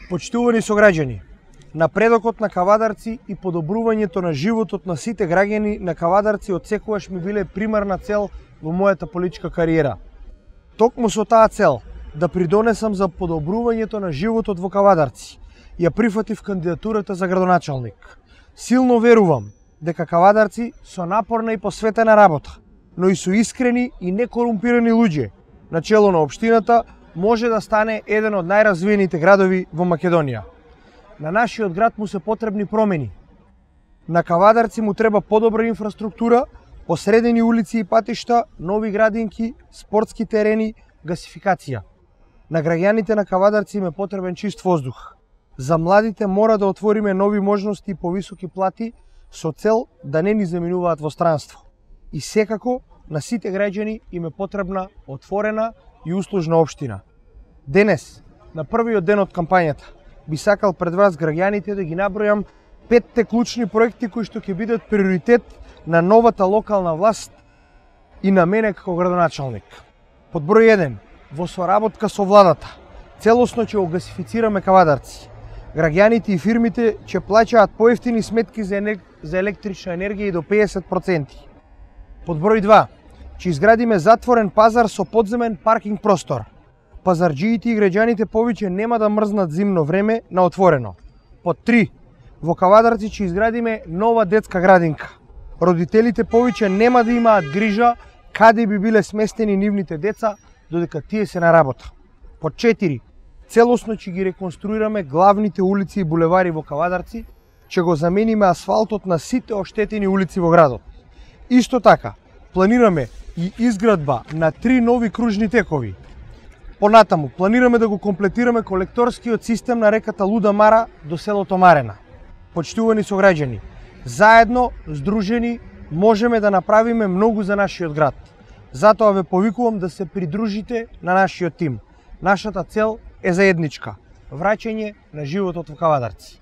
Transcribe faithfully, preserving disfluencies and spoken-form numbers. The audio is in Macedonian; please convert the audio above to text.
Почитувани сограѓани, напредокот на Кавадарци и подобрувањето на животот на сите граѓани на Кавадарци отсекогаш ми биле примарна цел во мојата политичка кариера. Токму со таа цел да придонесам за подобрувањето на животот во Кавадарци, ја прифатив кандидатурата за градоначалник. Силно верувам дека Кавадарци со напорна и посветена работа, но и со искрени и некорумпирани луѓе на чело на општината може да стане еден од најразвиените градови во Македонија. На нашиот град му се потребни промени. На Кавадарци му треба подобра инфраструктура, посредени улици и патишта, нови градинки, спортски терени, гасификација. На граѓаните на Кавадарци им е потребен чист воздух. За младите мора да отвориме нови можности и повисоки плати со цел да не ни заминуваат во странство. И секако на сите граѓани им е потребна отворена и услужна општина. Денес, на првиот ден од кампањата, би сакал пред вас граѓаните да ги набројам петте клучни проекти кои што ќе бидат приоритет на новата локална власт и на мене како градоначалник. Под број еден, во соработка со владата, целосно ќе огасифицираме Кавадарци. Граѓаните и фирмите ќе плаќаат поевтини сметки за, енер... за електрична енергија и до педесет проценти. Под број два, ќе изградиме затворен пазар со подземен паркинг простор. Пазарџиите и граѓаните повеќе нема да мрзнат зимно време на отворено. Под три, во Кавадарци ќе изградиме нова детска градинка. Родителите повеќе нема да имаат грижа каде би биле сместени нивните деца додека тие се на работа. Под четири, целосно ќе ги реконструираме главните улици и булевари во Кавадарци, ќе го замениме асфалтот на сите оштетени улици во градот. Исто така, планираме и изградба на три нови кружни текови. Понатаму, планираме да го комплетираме колекторскиот систем на реката Луда Мара до селото Марена. Почитувани сограѓани, заедно, здружени, можеме да направиме многу за нашиот град. Затоа ве повикувам да се придружите на нашиот тим. Нашата цел е заедничка – враќање на животот во Кавадарци.